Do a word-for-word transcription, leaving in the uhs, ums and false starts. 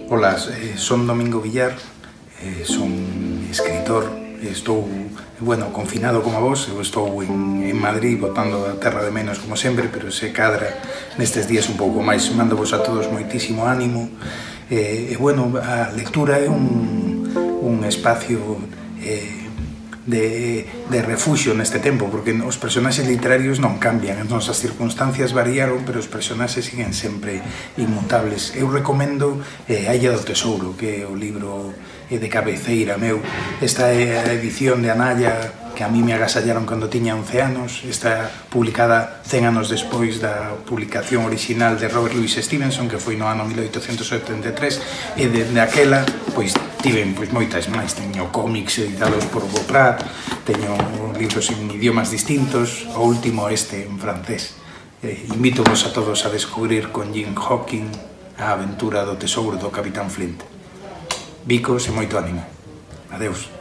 Ola, eh, son Domingo Villar, eh, son escritor, estou, bueno, confinado como vos, eu estou en, en Madrid botando a terra de menos como sempre, pero se cadra nestes días un pouco máis. Mando vos a todos moitísimo ánimo, e, eh, bueno, a lectura é un, un espacio eh, de, de refuxio neste tempo, porque os personaxes literarios non cambian, entón as circunstancias variaron, pero os personaxes siguen sempre inmutables. Eu recomendo eh, A Illa do Tesouro, que é o libro eh, de cabeceira meu. Esta é a edición de Anaya, que a mí me agasallaron cando tiña once anos. Está publicada cen anos despois da publicación original de Robert Louis Stevenson, que foi no ano mil oitocentos setenta e tres, e dende aquela, pois, tiven pois, moitas máis. Teño cómics editados por Boprat, teño libros en idiomas distintos, o último este en francés. Eh, Invítovos a todos a descubrir con Jim Hawking a aventura do tesouro do Capitán Flint. Bicos e moito ánimo. Adeus.